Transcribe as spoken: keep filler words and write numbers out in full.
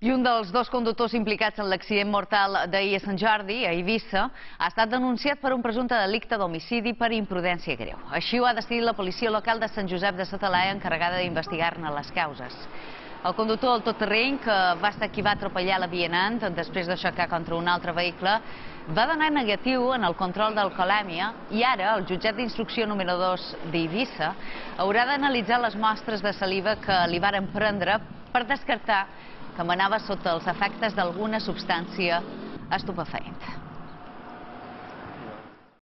I un dels dos conductors implicats en l'accident mortal d'ahir a Sant Jordi, a Eivissa, ha estat denunciat per un presumpte delicte d'homicidi per imprudència greu. Així ho ha decidit la policia local de Sant Josep de sa Talaia, encarregada d'investigar-ne les causes. El conductor del tot-terreny, que va estar qui va atropellar la vianant després de xocar contra un altre vehicle, va donar negatiu en el control d'alcoholèmia i ara el jutjat d'instrucció número dos d'Eivissa haurà d'analitzar les mostres de saliva que li varen prendre per descartar que manava sota els efectes d'alguna substància estupefaent.